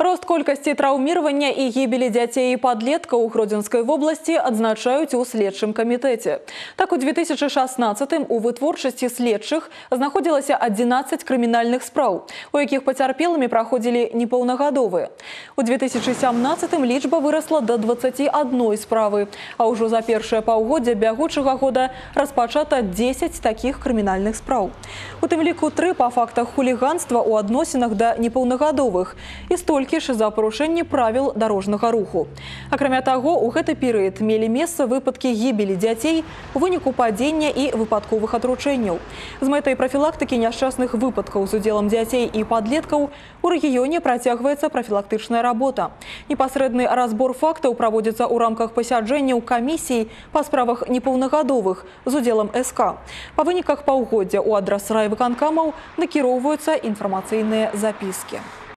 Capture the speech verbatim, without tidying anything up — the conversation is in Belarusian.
Рост колькасці траўміравання і гібелі дзяцей і падлеткаў у Гродзенскай вобласці адзначаюць у следчым камітэце. Так, у две тысячи шаснаццатым у вытворчасці следчых знаходзілася адзінаццаць крымінальных спраў, у якіх пацярпелымі праходзілі непаўнагадовыя. У две тысячи сямнаццатым лічба вырасла да дваццаці адной справы, а ўжо за першае паўгоддзе бягучага года распачата дзесяць такіх крымінальных спраў. У тым ліку тры па фактах хуліганства ў адносінах да непаўнагадовых і столькі ж за парушэнне правіл дарожнага руху. Акрамя таго, у гэты перыяд мелі месца выпадкі гібелі дзяцей у выніку падзення і выпадковых атручэнняў. З мэтай прафілактыкі няшчасных выпадкаў з удзелам дзяцей і падлеткаў у рэгіёне працягваецца прафілактычная работа. Непасрэдны разбор фактаў праводзіцца ў рамках пасяджэнняў камісій па справах непаўнагадовых з удзелам эс ка. Па выніках паўгоддзя ў адрас райвыканкамаў накіроўваюцца інфармацыйныя запіскі.